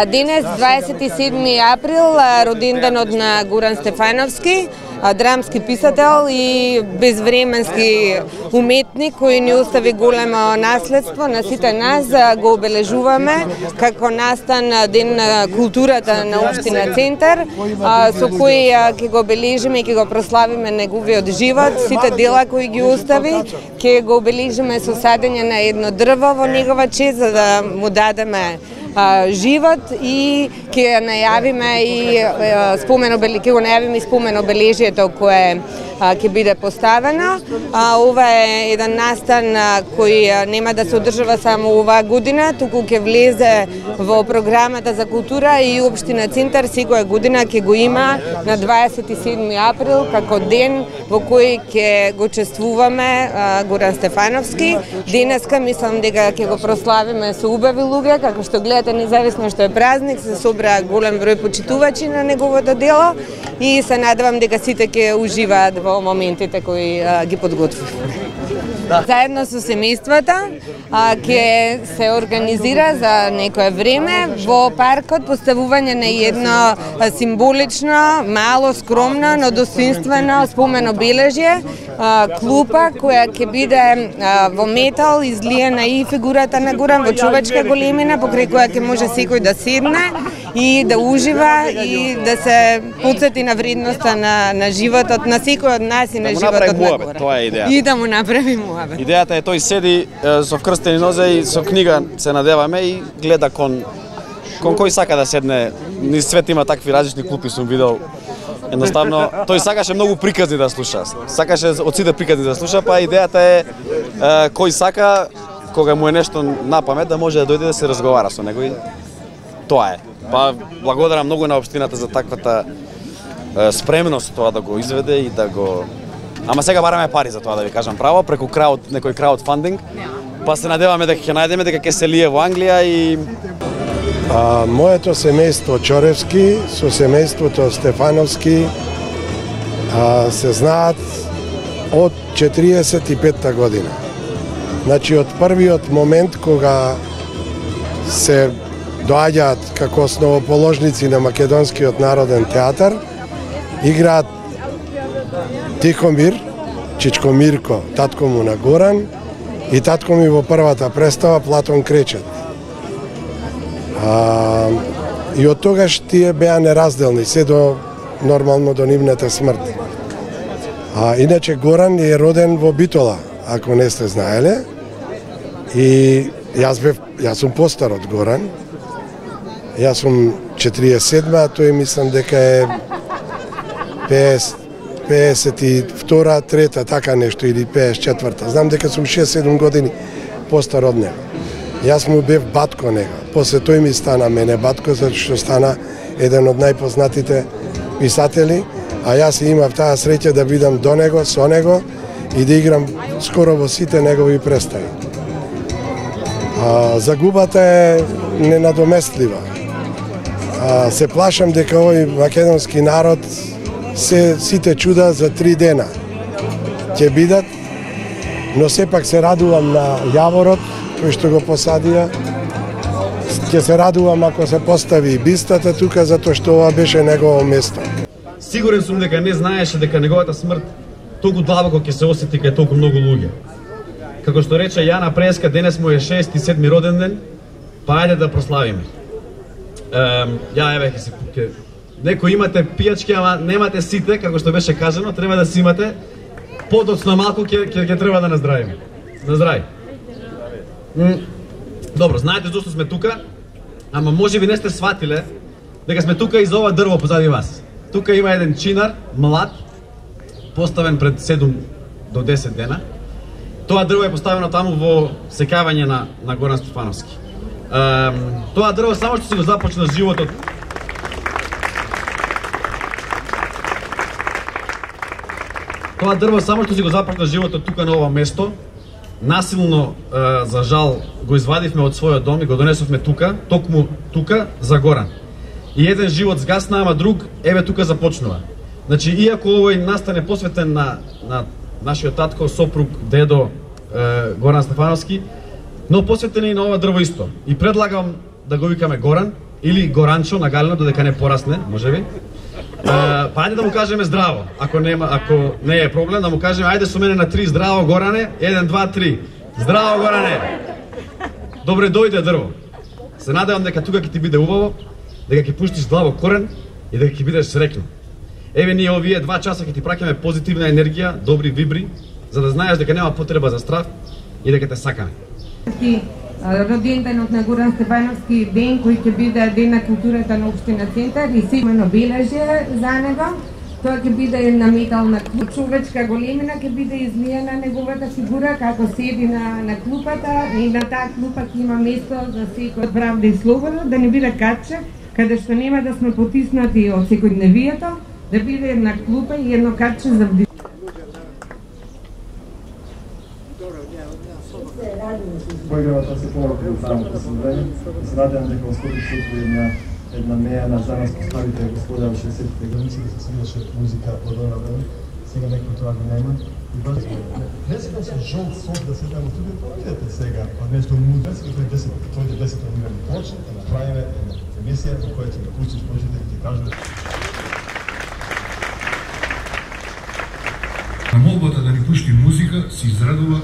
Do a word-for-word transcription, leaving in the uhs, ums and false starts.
Денес, дваесет и седми април, роденденот на Горан Стефановски, драмски писател и безвременски уметник кој ни остави големо наследство на сите нас. Го обележуваме како настан ден на културата на општина Центар, со кој ќе го обележиме и ќе го прославиме неговиот живот, сите дела кои ги остави, ќе го обележиме со садење на едно дрво во негова чест за да му дадеме живот и ќе најавиме и спомен ќе го најавиме и спомен обележието кое ќе биде поставено. Ова е еден настан кој нема да се одржава само оваа година, туку ќе влезе во програмата за култура и општина Центар секоја година ќе го има на дваесет и седми април како ден во кој ќе го чествуваме Горан Стефановски. Денеска мислам дека ќе го прославиме со убави луѓе, како што гледате, независно што е празник, се собраа голем број почитувачи на неговото дело и се надевам дека сите ќе уживаат во моментите кои а, ги подготвивме. Да. Заедно со семејствата ќе се организира за некое време во паркот поставување на едно символично, мало, скромно, но достоинствено спомен обележје, клупа која ќе биде во метал излиена и фигурата на Горан во човечка големина, покрај која ќе може секој да седне и да ужива и да се потсети на вредноста на, на животот на секој од нас и на да животот на Горан. Тоа е идеја. И да му направи муабет. Идејата е тој седи е, со вкрстени нозе и со книга се надеваме и гледа кон кон кој сака да седне. Низ свет има такви различни клупи, сум видел. Едноставно тој сакаше многу приказни да слуша. Сакаше од сите приказни да слуша, па идејата е, е кој сака кога му е нешто на памет да може да дојде да се разговара со него и тоа е. Па благодарам многу на општината за таквата е, спремност тоа да го изведе и да го. Ама сега бараме пари за тоа, да ви кажам право, преку крауд, некој краудфандинг. Па се надеваме дека ќе најдеме, дека ќе се лие во Англија и а, моето семејство Чоревски со семејството Стефановски а, се знаат од четириесет и петта година. Значи од првиот момент кога се доаѓаат како основоположници на Македонскиот народен театар, играат Тихомир, Чичко Мирко, татко му на Горан, и татко ми во првата представа Платон Кречет. А, и од тогаш тие беа неразделни, се до нормално до нивната смрт. А иначе Горан е роден во Битола, ако не сте знаеле. И јас бев, јас сум постар од Горан. Јас сум четириесет и седма, а тој мислам дека е пеесет и втора, трета, така нешто, или пеесет и четврта. Знам дека сум шест-седум години постар од него. Јас му бев батко него. После тој ми стана мене батко, затоа што стана еден од најпознатите писатели, а јас имав таа среќа да бидам до него, со него и да играм скоро во сите негови представи. А, загубата е ненадоместлива. А, се плашам дека овој македонски народ се сите чуда за три дена ќе бидат, но сепак се радувам на јаворот кој што го посадија. Ќе се радувам ако се постави и бистата тука, затоа што ова беше негово место. Сигурен сум дека не знаеше дека неговата смрт толку длабоко ќе се осети кај толку многу луѓе. Како што рече Јана Преска, денес му е шест и седми роден ден, па ајде да прославиме. Ем, ја еве ќе се ќе некои имате пијачки, ама немате сите, како што беше кажано, треба да си имате. Подоцно малку ќе ќе ќе треба да наздравиме. Наздрави. Добро, знаете зошто сме тука, ама можеби не сте сватиле дека сме тука и за ова дрво позади вас. Тука има еден чинар, млад, поставен пред седум до десет дена. Тоа дрво е поставено таму во секавање на на Горан Стефановски. Ем, тоа дрво само што си го започна животот. Тоа дрво само што си го започна животот тука на ова место. Насилно, е, за жал, го извадивме од својот дом и го донесовме тука, токму тука за Горан. И еден живот згасна, ама друг еве тука започнува. Значи, иако овој настане посветен на, на нашиот татко, сопруг, дедо е, Горан Стефановски, Но посветен и на ова дрво исто. И предлагам да го викаме Горан или Горанчо на Галено, додека не порасне, можеби. Па ајде да му кажеме здраво, ако нема, ако не е проблем, да му кажеме ајде со мене на три здраво Горане, еден, два, три. Здраво Горане. Добре дојде дрво. Се надевам дека тука ќе ти биде убаво, дека ќе пуштиш длабок корен и дека ќе бидеш среќен. Еве ние овие два часа ќе ти праќаме позитивна енергија, добри вибри, за да знаеш дека нема потреба за страх и дека те сакаме. Роденденот на Горан Стефановски ден кој ќе биде ден на културата на општина Центар и симено обележје за него. Тоа ќе биде една метална човечка големина, ќе биде излиена неговата фигура како седи на, на клупата и на таа клупа ќе има место за секој правда и слобода, да не биде каче, каде што нема да сме потиснати од секојдневието, да биде една клупа и едно каче за вдишување. Поигравата се повеќе од самото собрание. Се надевам дека во скоро случај една една меја на за нас поставите господа во шеесеттите години да се свираше музика од она време. Сега некој тоа го нема. И баш не сега со жолт сок да седнеме во студиото, видете сега, па нешто музика, тој десет тој десет минути почне да направиме една емисија во која ќе го пуштиш почите и ќе кажеш на молбата да ни пушти музика се израдува